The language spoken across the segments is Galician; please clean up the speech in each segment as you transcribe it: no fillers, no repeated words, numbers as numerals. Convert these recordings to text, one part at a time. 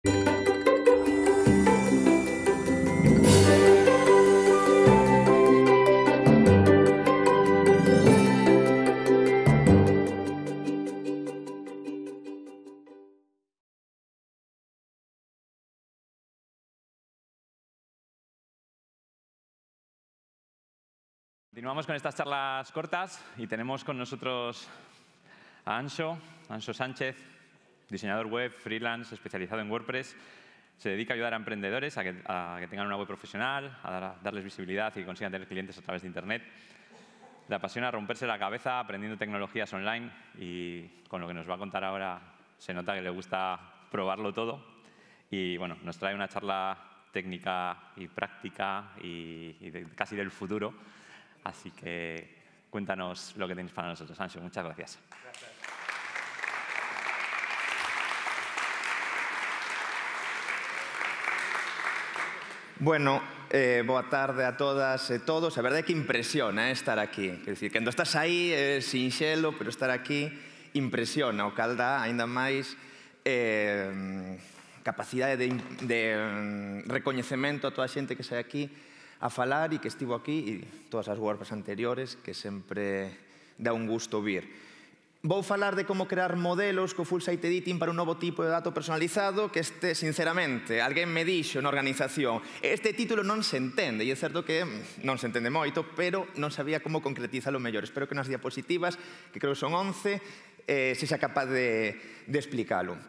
Continuamos con estas charlas cortas y tenemos con nosotros a Anxo Sánchez, diseñador web, freelance, especializado en WordPress. Se dedica a ayudar a emprendedores a que tengan una web profesional, a darles visibilidad y consigan tener clientes a través de Internet. Le apasiona romperse la cabeza aprendiendo tecnologías online y con lo que nos va a contar ahora se nota que le gusta probarlo todo. Y bueno, nos trae una charla técnica y práctica y casi del futuro. Así que cuéntanos lo que tenéis para nosotros, Anxo. Muchas gracias. Gracias. Bueno, boa tarde a todas e todos. A verdade é que impresiona estar aquí. Quer dicir, cando estás aí é sinxelo, pero estar aquí impresiona. O cal dá aínda máis capacidade de recoñecemento a toda a xente que sai aquí a falar e que estivo aquí, e todas as WordPress anteriores, que sempre dá un gusto vir. Vou falar de como crear modelos co Full Site Editing para un novo tipo de dato personalizado que sinceramente, alguén me dixo na organización, este título non se entende, e é certo que non se entende moito, pero non sabía como concretizalo mellor. Espero que nas diapositivas, que creo que son 11, sexa capaz de explicalo.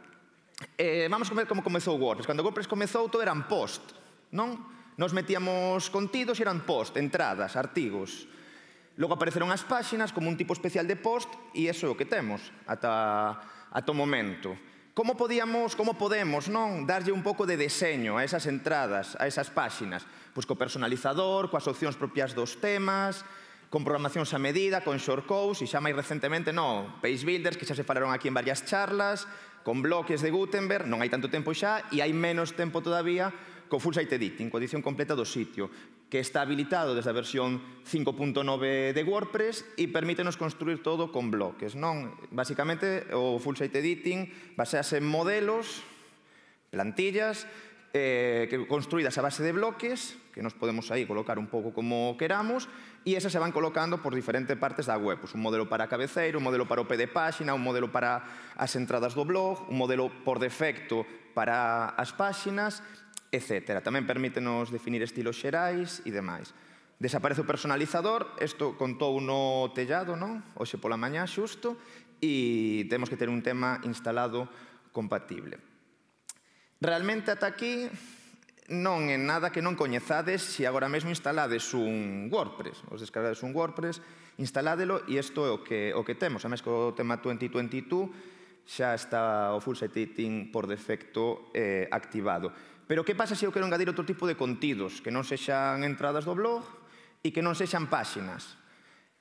Vamos a ver como comezou WordPress. Cando WordPress comezou, todo eran post, non? Nos metíamos contidos e eran post, entradas, artigos. Logo apareceron as páxinas como un tipo especial de post e iso é o que temos ata o momento. Como podemos darlle un pouco de deseño a esas entradas, a esas páxinas? Pois co personalizador, coas opcións propias dos temas, con programacións a medida, con shortcodes e xa máis recentemente, page builders, que xa se falaron aquí en varias charlas, con bloques de Gutenberg, non hai tanto tempo xa e hai menos tempo todavía co Full Site Editing, coa edición completa do sitio, que está habilitado desde a versión 5.9 de WordPress e permítenos construir todo con bloques. Basicamente, o Full Site Editing basease en modelos, plantillas, construídas a base de bloques, que nos podemos aí colocar un pouco como queramos, e esas se van colocando por diferentes partes da web. Un modelo para a cabeceira, un modelo para o pé de páxina, un modelo para as entradas do blog, un modelo por defecto para as páxinas, etc. Tamén permítenos definir estilos xerais e demais. Desaparece o personalizador, isto contou no tellado, hoxe pola mañá xusto, e temos que ter un tema instalado compatible. Realmente ata aquí non é nada que non coñezades se agora mesmo instalades un WordPress. Os descargades un WordPress, instaládelo e isto é o que temos. A mes que o tema 2022 xa está o Full Site Editing por defecto activado. Pero que pasa se eu quero engadir outro tipo de contidos que non sexan entradas do blog e que non sexan páxinas?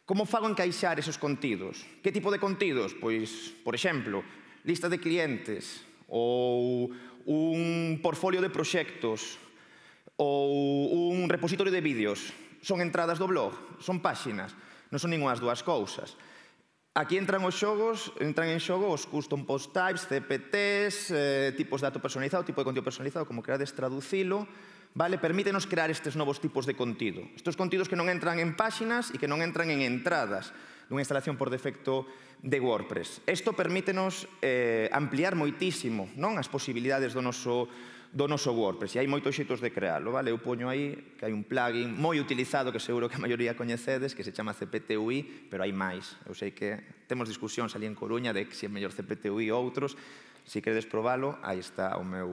Como fago encaixar esos contidos? Que tipo de contidos? Pois, por exemplo, lista de clientes ou un portfolio de proxectos ou un repositorio de vídeos. Son entradas do blog? Son páxinas? Non son ningunhas dúas cousas. Aquí entran en xogo os custom post types, CPTs, tipos de dato personalizado, tipo de contido personalizado, como querades traducilo, permítenos crear estes novos tipos de contido. Estes contidos que non entran en páxinas e que non entran en entradas dunha instalación por defecto de WordPress. Isto permítenos ampliar moitísimo as posibilidades do noso WordPress, e hai moitos xeitos de crealo. Eu poño aí que hai un plugin moi utilizado que seguro que a maioría coñecedes, que se chama CPTUI, pero hai máis. Eu sei que temos discusións ali en Coruña de se é mellor CPTUI ou outros. Se queredes probalo, aí está o meu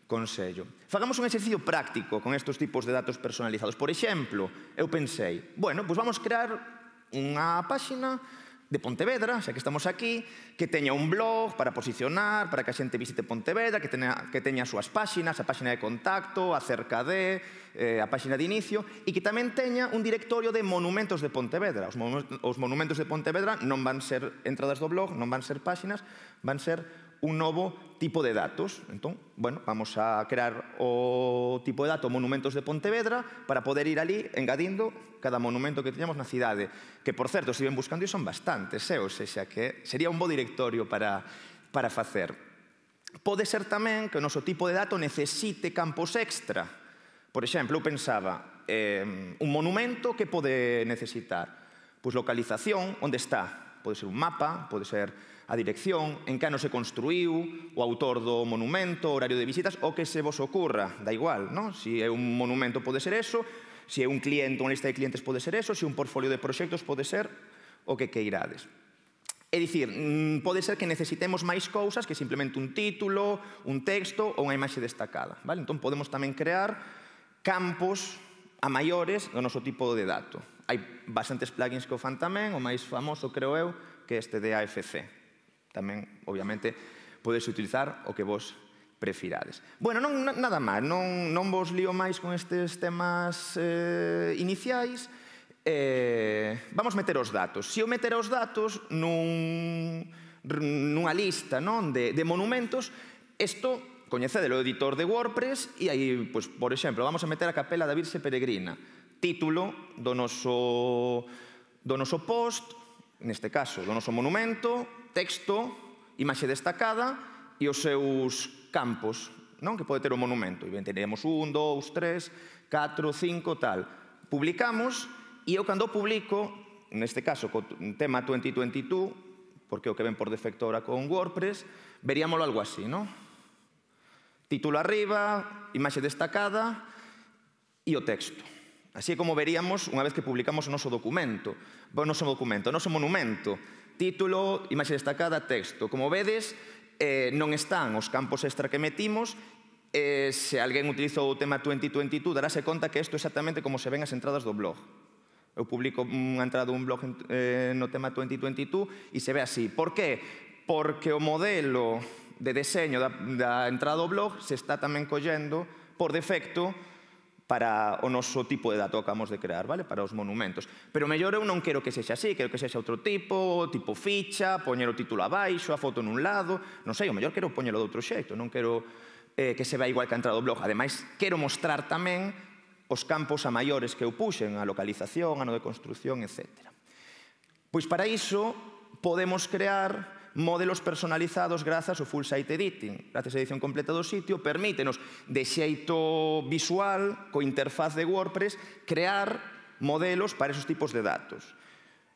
consello. Fagamos un exercicio práctico con estes tipos de datos personalizados. Por exemplo, eu pensei, pois vamos crear unha páxina de Pontevedra, xa que estamos aquí, que teña un blog para posicionar, para que a xente visite Pontevedra, que teña as súas páxinas, a páxina de contacto, acerca de, a páxina de inicio, e que tamén teña un directorio de monumentos de Pontevedra. Os monumentos de Pontevedra non van ser entradas do blog, non van ser páxinas, van ser un novo tipo de datos. Entón, vamos a crear o tipo de dato monumentos de Pontevedra para poder ir ali engadindo cada monumento que teñamos na cidade, que, por certo, se ven buscando, son bastantes, ou seja, que sería un bo directorio para facer. Pode ser tamén que o noso tipo de dato necesite campos extra. Por exemplo, eu pensaba, un monumento que pode necesitar? Pois localización, onde está? Pode ser un mapa, pode ser a dirección, en que ano se construíu, o autor do monumento, o horario de visitas, o que se vos ocurra, da igual, non? Se é un monumento pode ser eso, se é un cliente, unha lista de clientes pode ser eso, se é un portfolio de proxectos pode ser o que queirades. É dicir, pode ser que necesitemos máis cousas que simplemente un título, un texto ou unha imaxe destacada. Entón, podemos tamén crear campos a maiores do noso tipo de dato. Hai bastantes plugins que o fan tamén, o máis famoso, creo eu, que este de AFC. Tamén, obviamente, podes utilizar o que vos prefirades. Bueno, nada máis, non vos lío máis con estes temas iniciais. Vamos meter os datos. Se eu meter os datos nunha lista de monumentos, isto, coñecedelo, o editor de WordPress, e aí, por exemplo, vamos a meter a Capela da Virxe Peregrina. Título do noso post, neste caso, do noso monumento, texto, imaxe destacada e os seus campos que pode ter o monumento. E ben, teremos 1, 2, 3, 4, 5, tal. Publicamos. E eu, cando publico, neste caso, co tema 2022, porque é o que ven por defecto ahora con WordPress, veríamoslo algo así, non? Título arriba, imaxe destacada e o texto. Así é como veríamos unha vez que publicamos o noso documento, o noso monumento. Título, imaxe destacada, texto. Como vedes, non están os campos extra que metimos. Se alguén utilizou o tema 2022, darase conta que isto é exactamente como se ven as entradas do blog. Eu publico unha entrada dun blog no tema 2022 e se ve así. Por que? Porque o modelo de deseño da entrada do blog se está tamén collendo por defecto para o noso tipo de dato que acabamos de crear, para os monumentos. Pero mellor eu non quero que sexa así, quero que sexa outro tipo ficha, poñer o título abaixo, a foto nun lado, non sei, o mellor quero poñelo de outro xeito, non quero que se vea igual que a entrada do blog. Ademais, quero mostrar tamén os campos a maiores que eu puxen, a localización, ano de construción, etc. Pois para iso podemos crear modelos personalizados grazas ao full site editing. Grazas á edición completa do sitio, permítenos de xeito visual, co interfaz de WordPress, crear modelos para esos tipos de datos.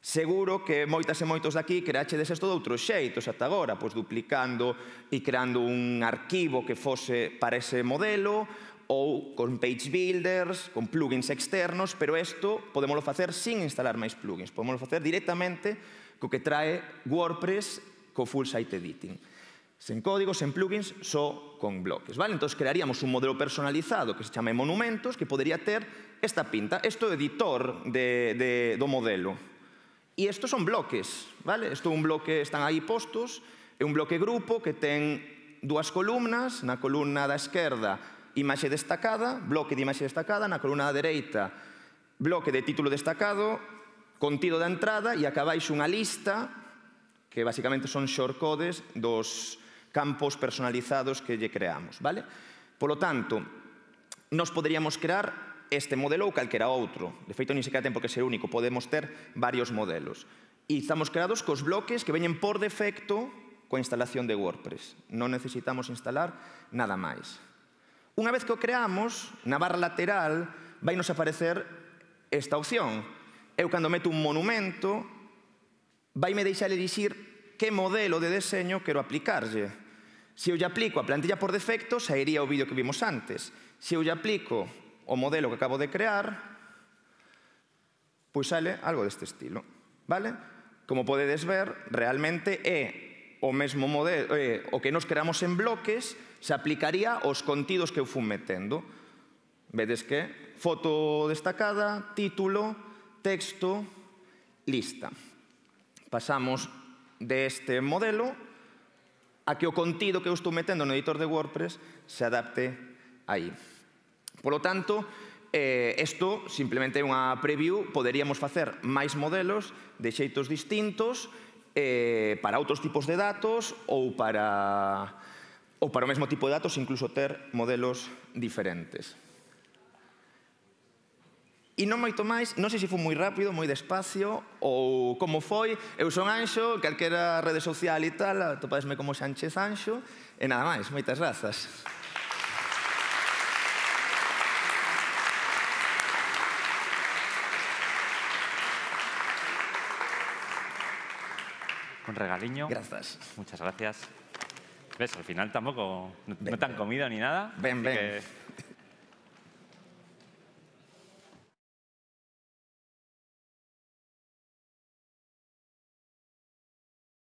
Seguro que moitas e moitos daqui creachedes isto de outros xeitos ata agora, pois duplicando e creando un arquivo que fose para ese modelo, ou con page builders, con plugins externos, pero isto podémoslo facer sin instalar máis plugins. Podémoslo facer directamente co que trae WordPress co full site editing. Sen código, sen plugins, só con bloques. Entón, crearíamos un modelo personalizado que se chama monumentos, que podería ter esta pinta. Isto é o editor do modelo. E estos son bloques. Isto é un bloque, están aí postos, é un bloque grupo que ten dúas columnas. Na columna da esquerda, imaxe destacada, bloque de imaxe destacada, na columna da dereita, bloque de título destacado, contido da entrada, e acá abaixo unha lista, que basicamente son shortcodes dos campos personalizados que lle creamos. Polo tanto, nos poderíamos crear este modelo ou calquera outro. De feito, nin sequera ten por que ser único, podemos ter varios modelos. E estamos creados cos bloques que veñen por defecto coa instalación de WordPress. Non necesitamos instalar nada máis. Unha vez que o creamos, na barra lateral vai nos aparecer esta opción. Eu, cando meto un monumento, vaime deixar elixir que modelo de deseño quero aplicarlle. Se eu lle aplico a plantilla por defecto, sairía o vídeo que vimos antes. Se eu lle aplico o modelo que acabo de crear, pois sale algo deste estilo. Como podedes ver, realmente é o mesmo modelo, o que nos creamos en bloques, se aplicaría aos contidos que eu fun metendo. Vedes que foto destacada, título, texto, lista. Pasamos deste modelo a que o contido que eu estou metendo no editor de WordPress se adapte aí. Polo tanto, isto simplemente é unha preview, poderíamos facer máis modelos de xeitos distintos para outros tipos de datos ou para o mesmo tipo de datos, incluso ter modelos diferentes. E non moito máis, non sei se foi moi rápido, moi despacio, ou como foi. Eu son Anxo, calquera rede social e tal, atopadesme como Sánchez Anxo, e nada máis, moitas grazas. Un regaliño. Grazas. Muchas gracias. ¿Ves? Al final tampoco no te han comido ni nada. Ben, así ben. que